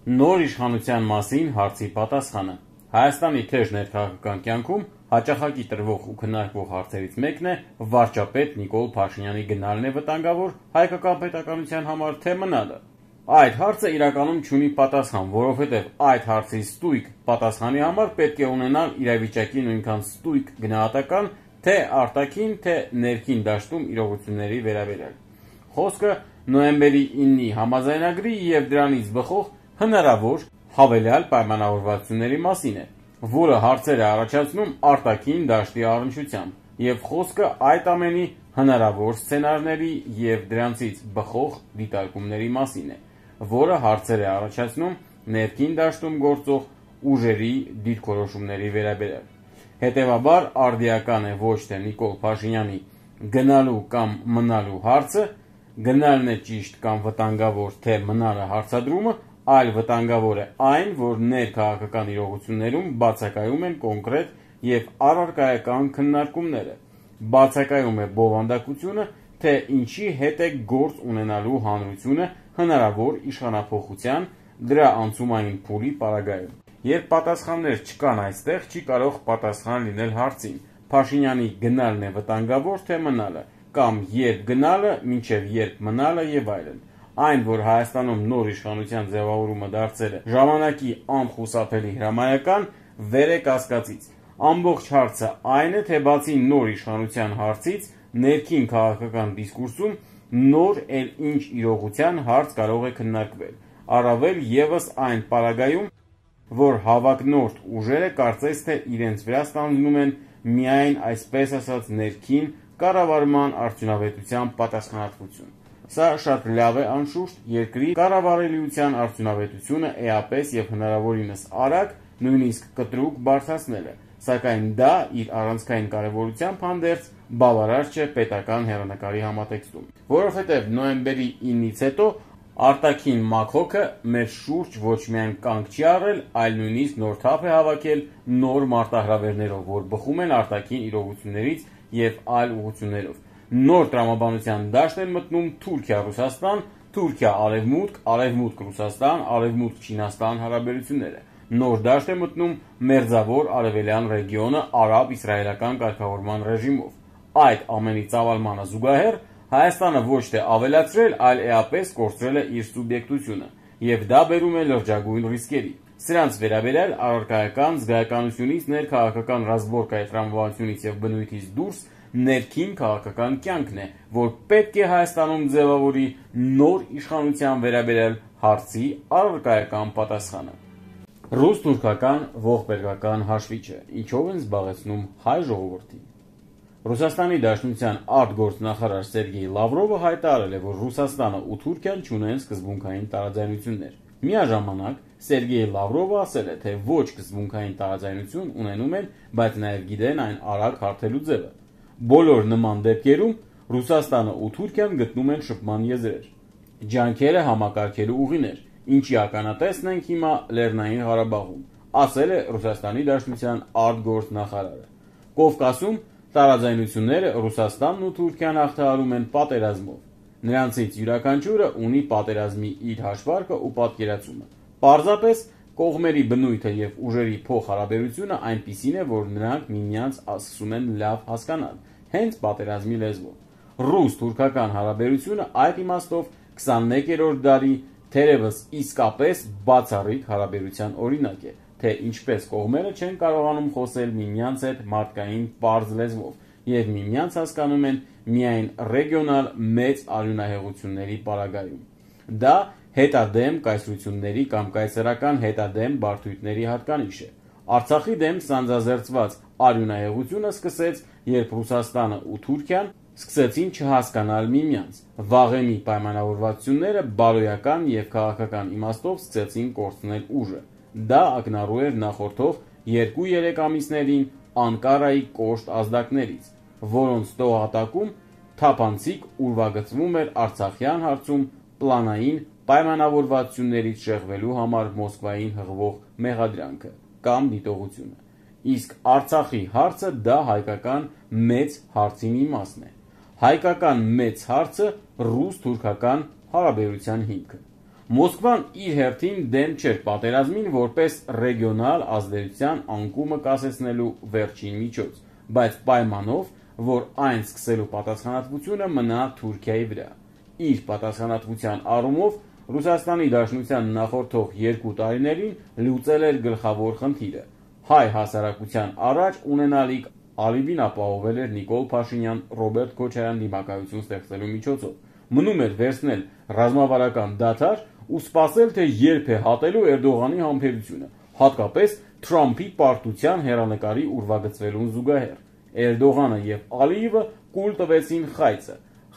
Նոր իշխանության մասին հարցի պատասխանը։ Հայաստանի թեժ ներքաղաքական կյանքում հաճախակի տրվող ու քննարկվող հարցերից մեկն է վարչապետ Նիկոլ Փաշինյանի գնալն է վտանգավոր հայկական պետականության համար, թե մնալը։ Այդ հարցը իրականում չունի պատասխան, որովհետև այդ հարցի ստույգ պատասխանի համար պետք է ունենալ իրավիճակի նույնքան ստույգ գնահատական թե արտաքին, թե ներքին դաշտում իրողությունների վերաբերյալ։ Խոսքը նոյեմբերի 9-ի համաձայնագրի և դրանից բխող հնարավոր հավելյալ պայմանավորվածությունների մասին է, որը հարցեր է առաջացնում արտաքին դաշտի առնչությամբ, և խոսքը այդ ամենի հնարավոր սցենարների և դրանցից բխող դիտարկումների մասին է, որը հարցեր է առաջացնում ներքին դաշտում գործող ուժերի դիրքորոշումների վերաբերյալ։ Հետևաբար արդիական է ոչ թե Նիկոլ Փաշինյանի գնալու կամ մնալու հարցը, գնալն է ճիշտ կամ վտանգավոր, թե մնալը հարցադրումը, այլ վտանգավոր է այն, որ ներքաղաքական իրողություններում բացակայում են կոնկրետ և առարկայական քննարկումները, բացակայում է բովանդակությունը, թե ինչի հետ է գործ ունենալու հանրությունը հնարավոր իշխանափոխության, դրա անցումային փուլի պարագայում։ Երբ պատասխաններ չկան այստեղ, չի կարող պատասխան լինել հարցին՝ Փաշինյանի գնալն է վտանգավոր, թե մնալը, կամ երբ գնալը, մինչև երբ մնալը և այլն։ Այն, որ Հայաստանում նոր իշխանության ձևավորումը դարձել է ժամանակի անխուսափելի հրամայական, վեր է կասկածից։ Ամբողջ հարցը այն է, թե բացի նոր իշխանության հարցից, ներքին քաղաքական դիսկուրսում նոր էլ ինչ իրողության հարց կարող է քննարկվել, առավել ևս այն պարագայում, որ հավակնորդ ուժերը կարծես թե իրենց վրա ստանձնում են միայն այսպես ասած ներքին կառավարման արդյունավետության պատասխանատվություն։ Սա շատ լավ է անշուշտ, երկրի կառավարելիության արդյունավետությունը էապես և հնարավորինս արագ, նույնիսկ կտրուկ բարձրացնել է, սակայն դա իր առանցքային կարևորությամբ հանդերձ բավարար չէ պետական հեռանկարի համատեքստում, որովհետև նոյեմբերի 9-ից հետո արտաքին մաքոքը մեր շուրջ ոչ միայն կանգ չի առել, այլ նույնիսկ նոր թափ է հավաքել նոր մարտահրավերներով, որ բխում են արտաքին իրողություններից և այլ ուղղություններով։ Նոր տրամաբանության դաշտ են մտնում Թուրքիա-Ռուսաստան, Թուրքիա-Արևմուտք, Արևմուտք-Ռուսաստան, Արևմուտք-Չինաստան հարաբերությունները։ Նոր դաշտ է մտնում մերձավոր արևելյան ռեգիոնը արաբ-իսրայելական կարգավորման ռեժիմով։ Այդ ամենի ծավալմանը զուգահեռ Հայաստանը ոչ թե ավելացրել, այլ էապես կորցրել է իր սուբյեկտությունը, և դա բերում է լրջագույն ռիսկերի։ Սրանց վերաբերյալ առարկայական զգայականությունից, ներքաղաքական ռազմորկայի տրամաբանությունից և բնույթից դուրս ներքին քաղաքական կյանքն է, որ պետք է Հայաստանում ձևավորի նոր իշխանության վերաբերյալ հարցի առարկայական պատասխանը։ Ռուս-թուրքական ողբերգական հաշվիչը ինչով են զբաղեցնում հայ ժողովրդին։ Ռուսաստանի Դաշնության արտգործնախարար Սերգեյ Լավրովը հայտարարել է, որ Ռուսաստանը ու Թուրքիան չունեն սկզբունքային տարաձայնություններ։ Միաժամանակ Սերգեյ Լավրովը ասել է, թե ոչ սկզբունքային տարաձայնություն ունենում են, բայց նաև գիտեն այն արագ հարթելու ձևը։ Բոլոր նման դեպքերում Ռուսաստանը ու Թուրքիան գտնում են շփման եզրեր, ջանքերը համակարգելու ուղիներ, ինչի ականատեսն ենք հիմա Լեռնային Ղարաբաղում, ասել է Ռուսաստանի Դաշնության արտգործնախարարը։ Կովկասում տարաձայնությունները Ռուսաստանն ու Թուրքիան հաղթահարում են պատերազմով։ Նրանցից յուրաքանչյուրը ունի պատերազմի իր հաշվարկը ու պատկերացումը։ Պարզապես կողմերի բնույթը և ուժերի փոխհարաբերությունը այնպիսին է, որ նրանք միմյանց սկսում են լավ հասկանալ, հենց պատերազմի լեզվով։ Ռուս-թուրքական հարաբերությունը այդ իմաստով 21-րդ դարի թերևս իսկապես բացառիկ հարաբերության օրինակ է, թե ինչպես կողմերը չեն կարողանում խոսել միմյանց հետ մարդկային պարզ լեզվով և միմյանց հասկանում են միայն ռեգիոնալ մեծ արյունահեղությունների պարագայում։ Դա հետադեմ կայսրությունների կամ կայսերական հետադեմ բարդույթների հատկանիշ է։ Արցախի դեմ սանձազերծված արյունահեղությունը սկսեց, երբ Ռուսաստանը ու Թուրքիան սկսեցին չհասկանալ միմյանց։ Վաղեմի պայմանավորվածությունները բարոյական և քաղաքական իմաստով սկսեցին կորցնել ուժը։ Դա ակնառու էր նախորդող 2-3 ամիսներին Անկարայի կոշտ ազդակներից, որոնց տողատակում թափանցիկ ուրվագծվում էր Արցախյան հարցում պլանային պայմանավորվածություններից շեղվելու համար Մոսկվային հղվող մեղադրանքը կամ դիտողությունը։ Իսկ Արցախի հարցը դա հայկական մեծ հարցի մի մասն է։ Հայկական մեծ հարցը ռուս-թուրքական հարաբերության հիմքը։ Մոսկվան իր հերթին դեմ չէր պատերազմին որպես ռեգիոնալ ազդեցության անկումը կասեցնելու վերջին միջոց, բայց պայմանով, որ այն սկսելու պատասխանատվությունը մնա Թուրքիայի վրա։ Իր պատասխանատվության առումով Ռուսաստանի Դաշնության նախորդող 2 տարիներին լուծել էր գլխավոր խնդիրը։ Հայ հասարակության առաջ ունենալիք ալիբին ապահովել էր Նիկոլ Փաշինյան-Ռոբերտ Քոչարյան դիմակայություն ստեղծելու միջոցով։ Մնում էր վերցնել ռազմավարական դադար ու սպասել, թե երբ է հատելու Էրդողանի համբերությունը, հատկապես Թրամփի պարտության հեռանկարի ուրվագծվելուն զուգահեռ։ Էրդողանը եւ Ալիևը կուլ տվեցին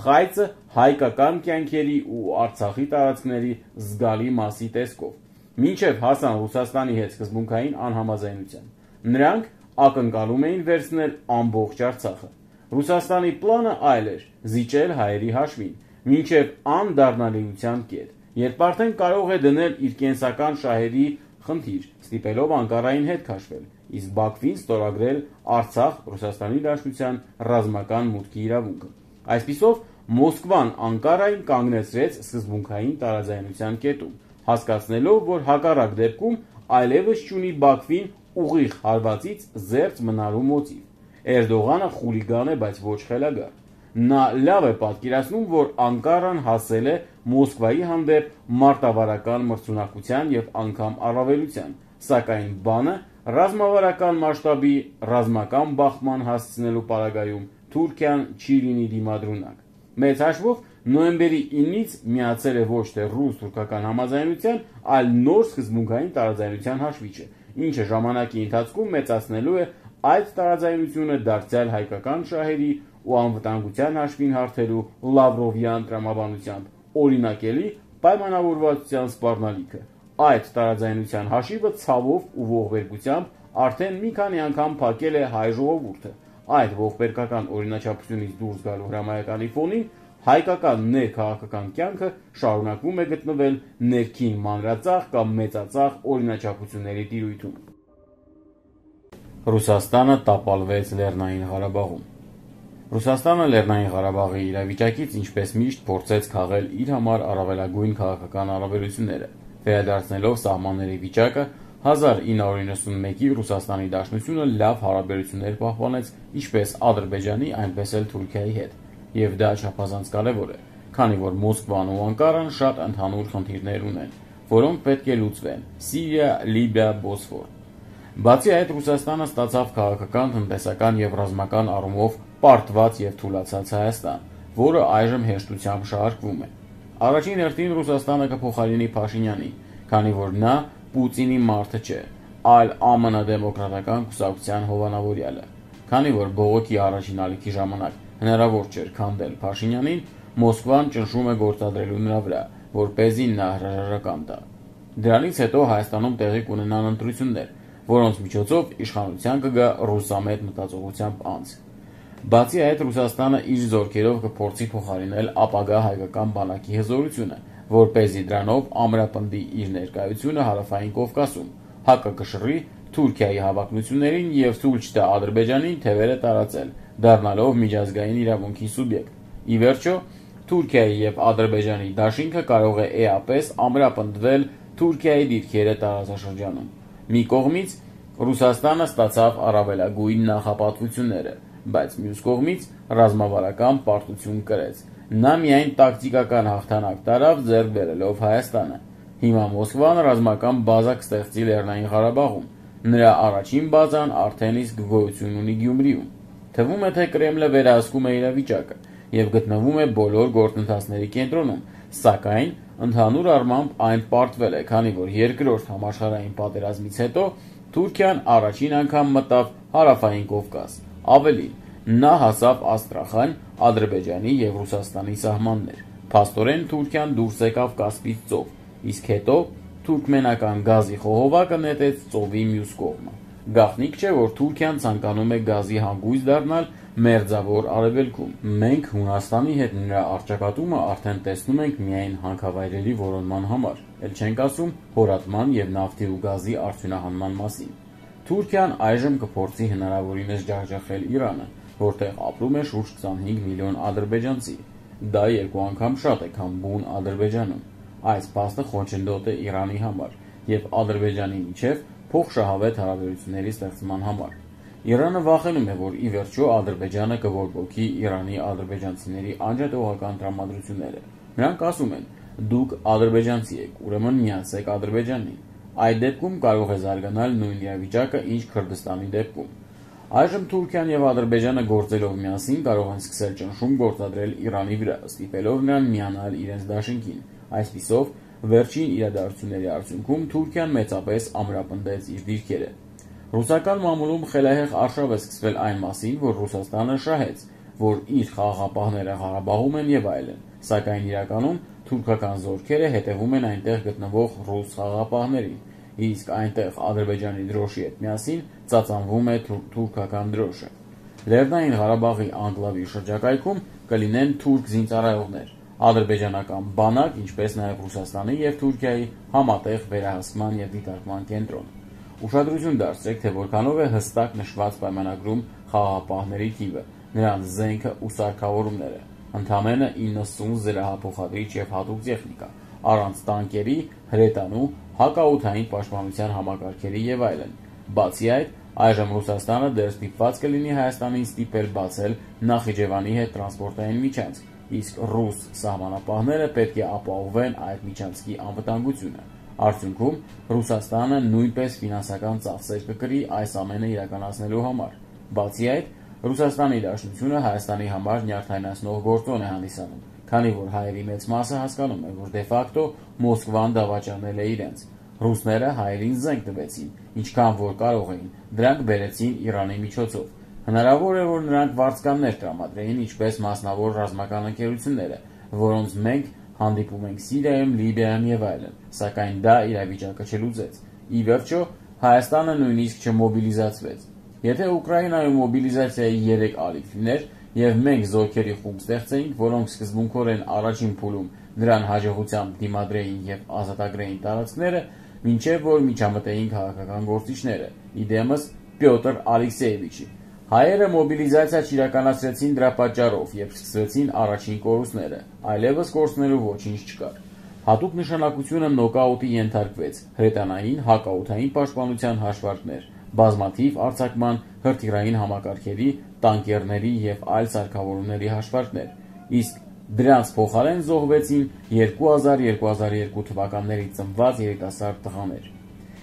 խայծը հայկական կյանքերի ու Արցախի տարածքների զգալի մասի տեսքով, մինչև հասան Ռուսաստանի հետ սկզբունքային անհամաձայնության։ Նրանք ակնկալում էին վերցնել ամբողջ Արցախը։ Ռուսաստանի պլանը այլ էր՝ զիջել հայերի հաշվին, մինչև անդառնալիության կետ, երբ արդեն կարող է դնել իր կենսական շահերի խնդիր, ստիպելով Անկարային հետ քաշվել, իսկ Բաքվին ստորագրել Արցախ Ռուսաստանի Դաշնության ռազմական մուտքի իրավունքը։ Այսպիսով Մոսկվան Անկարային կանգնեցրեց սկզբունքային տարաձայնության կետում, հասկացնելով, որ հակառակ դեպքում այլևս չունի Բաքվին ուղիղ հարվածից զերծ մնալու մոտիվ։ Էրդողանը խուլիգան է, բայց ոչ խելագար։ Նա լավ է պատկերացնում, որ Անկարան հասել է Մոսկվայի հանդեպ մարտավարական մրցունակության եւ անգամ առավելության, սակայն բանը ռազմավարական մասշտաբի ռազմական բախման հասցնելու պարագայում Թուրքիան չի լինի դիմադրունակ։ Մեծ հաշվով նոյեմբերի 9-ից միացել է ոչ թե ռուս-թուրքական համաձայնության, այլ նոր սկզբունքային տարաձայնության հաշվիչը, ինչը ժամանակի ընթացքում մեծացնելու է այդ տարաձայնությունը դարձյալ հայկական շահերի ու անվտանգության հաշվին հարթելու Լավրովյան տրամաբանությամբ օրինակելի պայմանավորվածության սպառնալիքը։ Այդ տարաձայնության հաշիվը ցավով ու ողբերգությամբ արդեն մի քանի անգամ փակել է հայ ժողովուրդը։ Այդ ողբերգական օրինաչափությունից դուրս գալու հրամայականի ֆոնին հայկական ներքաղաքական կյանքը շարունակվում է գտնվել ներքին մանրածախ կամ մեծածախ օրինաչափությունների տիրույթում։ Ռուսաստանը տապալվեց Լեռնային Ղարաբաղում։ Ռուսաստանը Լեռնային Ղարաբաղի իրավիճակից ինչպես միշտ փորձեց քաղել իր համար առավելագույն քաղաքական առավելությունները, վերադարձնելով սահմանների վիճակը 1991-ի Ռուսաստանի Դաշնությունը լավ հարաբերություններ պահպանեց ինչպես Ադրբեջանի, այնպես էլ Թուրքիայի հետ, եւ դա չափազանց կարևոր է, քանի որ Մոսկվան ու Անկարան շատ ընդհանուր խնդիրներ ունեն, որոնք պետք է լուծվեն՝ Սիրիա, Լիբիա, Բոսֆոր։ Բացի այդ, Ռուսաստանը ստացավ քաղաքական, տնտեսական եւ ռազմական առումով պարտված եւ թուլացած Հայաստան, որը այժմ հեշտությամբ շահարկվում է։ Առաջին հերթին Ռուսաստանը կփոխարինի Փաշինյանին, քանի որ նա Պուտինի մարդը չէ, այլ ԱՄՆ դեմոկրատական կուսակցության հովանավորյալը։ Քանի որ բողոքի առաջին ալիքի ժամանակ հնարավոր չէր քանդել Փաշինյանին, Մոսկվան ճնշում է գործադրելու նրա վրա, որպեսզի նա հրաժարական տա։ Դրանից հետո Հայաստանում տեղի կունենան ընտրություններ, որոնց միջոցով իշխանության կգա ռուսամետ մտածողությամբ անձ։ Բացի այդ, Ռուսաստանը իր զորքերով կփորձի փոխարինել ապագա հայկական բանակի հզորությունը, որպեսզի դրանով ամրապնդի իր ներկայությունը Հարավային Կովկասում, հակակշռի Թուրքիայի հավակնություններին եւ ցույց տա Ադրբեջանին թևերը տարածել, դառնալով միջազգային իրավունքի սուբյեկտ։ Ի վերջո, Թուրքիայի եւ Ադրբեջանի դաշինքը կարող է էապես ամրապնդվել Թուրքիայի դիրքերը տարածաշրջանում։ Մի կողմից Ռուսաստանը ստացավ առավելագույն նախապատվությունները, բայց մյուս կողմից ռազմավարական պարտություն կրեց։ Նա միայն տակտիկական հաղթանակ տարավ ձեռք բերելով Հայաստանը։ Հիմա Մոսկվան ռազմական բազա կստեղծի Լեռնային Ղարաբաղում։ Նրա առաջին բազան արդեն իսկ գոյություն ունի Գյումրիում։ Թվում է, թե Կրեմլը վերահսկում է իրավիճակը եւ գտնվում է բոլոր գործընթացների կենտրոնում, սակայն ընդհանուր առմամբ այն պարտվել է, քանի որ երկրորդ համաշխարհային պատերազմից հետո Թուրքիան առաջին անգամ մտավ Հարավային Կովկաս։ Ավելին, նա հասավ Աստրախան, Ադրբեջանի եւ Ռուսաստանի սահմաններ։ Փաստորեն Թուրքիան դուրս եկավ Կասպից ծով, իսկ հետո թուրքմենական գազի խողովակը նետեց ծովի մյուս կողմը։ Գաղտնիք չէ, որ Թուրքիան ցանկանում է գազի հանգույց դառնալ Մերձավոր Արևելքում։ Մենք Հունաստանի հետ նրա առճակատումը արդեն տեսնում ենք միայն հանքավայրերի որոնման համար, ել չենք ասում հորատման եւ նավթի ու գազի արդյունահանման մասին։ Թուրքիան այժմ կփորձի հնարավորինս ջախջախել Իրանը, որտեղ ապրում է շուրջ 25 միլիոն ադրբեջանցի։ Դա 2 անգամ շատ է, քան բուն Ադրբեջանում։ Այս փաստը խոչընդոտ է Իրանի համար եւ Ադրբեջանի միջև փոխշահավետ հարաբերությունների ստեղծման համար։ Իրանը վախենում է, որ ի վերջո Ադրբեջանը կբորբոքի Իրանի ադրբեջանցիների անջատողական տրամադրությունները։ Նրանք ասում են. դուք ադրբեջանցի եք, ուրեմն միացեք Ադրբեջանին։ Այդ դեպքում կարող է զարգանալ նույն իրավիճակը, ինչ Քրդստանի դեպքում։ Այժմ Թուրքիան եւ Ադրբեջանը գործելով միասին կարող են սկսել ճնշում գործադրել Իրանի վրա, ստիպելով նրան միանալ իրենց դաշինքին։ Այսպիսով, վերջին իրադարձությունների արդյունքում Թուրքիան մեծապես ամրապնդեց իր դիրքերը։ Ռուսական մամուլում խելահեղ արշավ է սկսվել այն մասին, որ Ռուսաստանը շահեց, որ իր խաղաղապահները Ղարաբաղում են եւ այլն, սակայն իրականում թուրքական զորքերը հետևում են այնտեղ գտնվող ռուս խաղաղապահներին, իսկ այնտեղ Ադրբեջանի դրոշի հետ միասին ծածանվում է թուրքական դրոշը։ Լեռնային Ղարաբաղի անկլավի շրջակայքում կլինեն թուրք զինծառայողներ, ադրբեջանական բանակ, ինչպես նաև Ռուսաստանի եւ Թուրքիայի համատեղ վերահսկման եւ դիտարկման կենտրոն։ Ուշադրություն դարձրեք, թե որքանով է հստակ նշված պայմանագրում խաղաղապահների թիվը, նրանց զենքը ու սարքավորումները։ Ընդամենը 90 զրահափոխադրիչ եւ հատուկ տեխնիկա, առանց տանկերի, հրետանու, հակաօդային պաշտպանության համակարգերի եւ այլն։ Բացի այդ, այժմ Ռուսաստանը դեռ ստիպված կլինի Հայաստանին ստիպել բացել Նախիջևանի հետ տրանսպորտային միջանցք, իսկ ռուս սահմանապահները պետք է ապահովեն այդ միջանցքի անվտանգությունը։ Արդյունքում Ռուսաստանը նույնպես ֆինանսական ծախսեր կկրի այս ամենը իրականացնելու համար։ Բացի այդ, Ռուսաստանի Դաշնությունը Հայաստանի համար նյարդայնացնող գործոն է հանդիսանում, քանի որ հայերի մեծ մասը հասկանում է, որ դե ֆակտո Մոսկվան դավաճանել է իրենց։ Ռուսները հայերին զենք տվեցին, ինչքան որ կարող էին, դրանք բերեցին Իրանի միջոցով։ Հնարավոր է, որ նրանք վարձկաններ տրամադրեին, ինչպես մասնավոր ռազմական ընկերությունները, որոնց մենք հանդիպում ենք Սիրիայում, Լիբիայում եւ այլն, սակայն դա իրավիճակը չլուծեց։ Ի վերջո, Հայաստանը նույնիսկ չմոբիլիզացվեց։ Եթե Ուկրաինայում մոբիլիզացիայի 3 ալիք լիներ եւ մենք զորքերի խումբ ստեղծեինք, որոնք սկզբունքորեն առաջին փուլում նրան հաջողությամբ դիմադրեին եւ ազատագրեին տարածքները, մինչեւ որ միջամտեին քաղաքական գործիչները, իդեմս Պյոտր Ալեքսեևիչի։ Հայերը մոբիլիզացիա չիրականացրեցին դրա պատճառով եւ սկսվեցին առաջին կորուստները, այլևս կորցնելու ոչինչ չկար։ Հատուկ նշանակությունը նոկաուտի ենթարկվեց հրետանային հակաօդային պաշտպանության հաշվարկներ, բազմաթիվ արձակման հրթիռային համակարգերի, տանկերների եւ այլ սարքավորումների հաշվարկներ, իսկ դրանց փոխարեն զոհվեցին 2000-2002 թվականներից ծնված երիտասարդ տղաներ։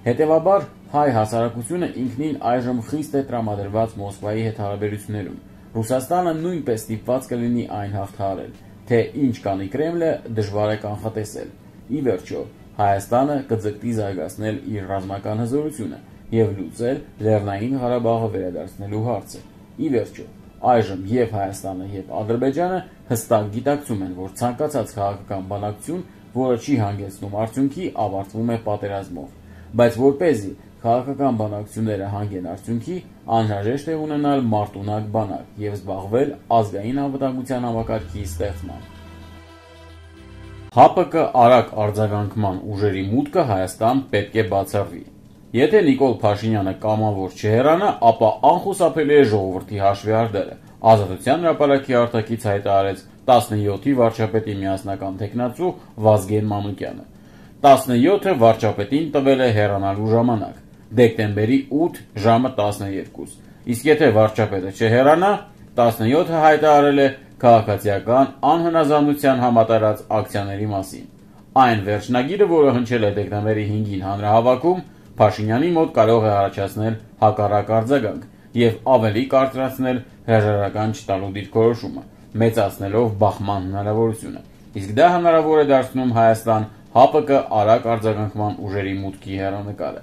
Հետևաբար հայ հասարակությունը ինքնին այժմ խիստ է տրամադրված Մոսկվայի հետ հարաբերություններում։ Ռուսաստանը նույնպես ստիպված կլինի այն հաղթահարել, թե ինչ կանի Կրեմլը դժվար է կանխատեսել։ Ի վերջո, Հայաստանը կձգտի զարգացնել իր ռազմական հզորությունը եւ լուծել Լեռնային Ղարաբաղը վերադարձնելու հարցը։ Ի վերջո, այժմ եւ Հայաստանը եւ Ադրբեջանը հստակ գիտակցում են, որ ցանկացած քաղաքական բանակցություն, որը չի հանգեցնում արդյունքի, ավարտվում է պատերազմով։ Բայց որպեսզի քաղաքական բանակցությունները հանգեն արդյունքի, անհրաժեշտ է ունենալ մարտունակ բանակ եւ զբաղվել ազգային անվտանգության համակարգի ստեղծմամբ։ ՀԱՊԿ արագ արձագանքման ուժերի մուտքը Հայաստան պետք է բացառվի։ Եթե Նիկոլ Փաշինյանը կամավոր չհեռանա, ապա անխուսափելի է ժողովրդի հաշվի արդերը։ Ազատության հրապարակի արտաքից հայտարարեց 17-ի վարչապետի միասնական թեկնածու Վազգեն Մանուկյանը։ 17-ը վարչապետին տվել է հեռանալու ժամանակ՝ դեկտեմբերի 8 ժամը 12, իսկ եթե վարչապետը չհեռանա, 17-ը հայտարարել է քաղաքացիական անհնազանդության համատարած ակցիաների մասին։ Այն վերջնագիրը, որը հնչել է դեկտեմբերի 5-ին հանրահավաքում, Փաշինյանի մոտ կարող է առաջացնել հակառակ արձագանք եւ ավելի կարծրացնել հրաժարական չտալու դիրքորոշումը, մեծացնելով բախման հնարավորությունը։ Իսկ դա հնարավոր է դարձնում Հայաստան ՀԱՊԿ արագ արձագանքման ուժերի մուտքի հեռանկարը։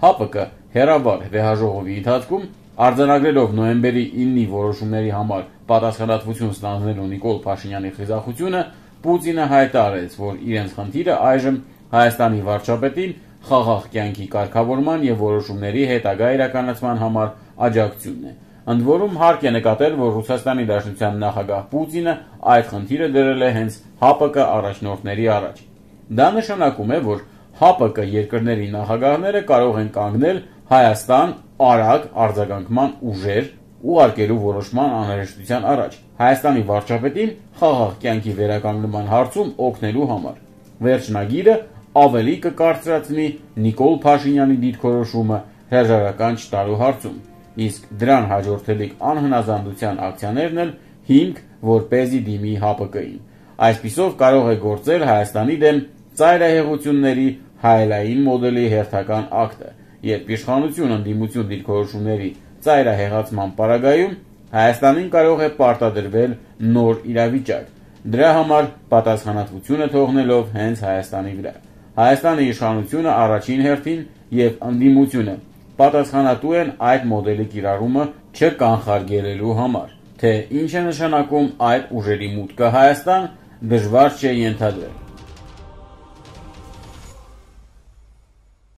ՀԱՊԿ հերավար վեհաժողովի ընթացքում արձանագրելով նոյեմբերի 9-ի որոշումների համար պատասխանատվություն ստանձնելու Նիկոլ Փաշինյանի խիզախությունը, Պուտինը հայտարարեց, որ իրենց խնդիրը այժմ Հայաստանի վարչապետին խաղաղ կյանքի կարգավորման եւ որոշումների հետագա իրականացման համար աջակցությունն է։ Ընդ որում հարկ է նկատել, որ Ռուսաստանի Դաշնության նախագահ Պուտինը այդ խնդիրը դրել է հենց ՀԱՊԿ առաջնորդների առաջ։ Դա նշանակում է, որ ՀԱՊԿ երկրների նախագահները կարող են կանգնել Հայաստան արագ արձագանքման ուժեր ուղարկելու որոշման անհրաժեշտության առաջ Հայաստանի վարչապետին խաղաղ կյանքի վերականգնման հարցում օգնելու համար։ Վերջնագիրը ավելի կկարծրացնի Նիկոլ Փաշինյանի դիրքորոշումը հրաժարական չտալու հարցում, իսկ դրան հաջորդելիք անհնազանդության ակցիաներն էլ հիմք, որպեսզի դիմի ՀԱՊԿ-ին։ Այսպիսով կարող է գործել Հայաստանի դեմ ծայրահեղությունների հայելային մոդելի հերթական ակտը, երբ իշխանություն ընդդիմություն դիրքորոշումների ծայրահեղացման պարագայում Հայաստանին կարող է պարտադրվել նոր իրավիճակ, դրա համար պատասխանատվությունը թողնելով հենց Հայաստանի վրա։ Հայաստանի իշխանությունը առաջին հերթին և ընդդիմությունը պատասխանատու են այդ մոդելի կիրառումը չկանխարգելելու համար, թե ինչ է նշանակում այդ ուժերի մուտքը Հայաստան, դժվար չէ ենթադրել։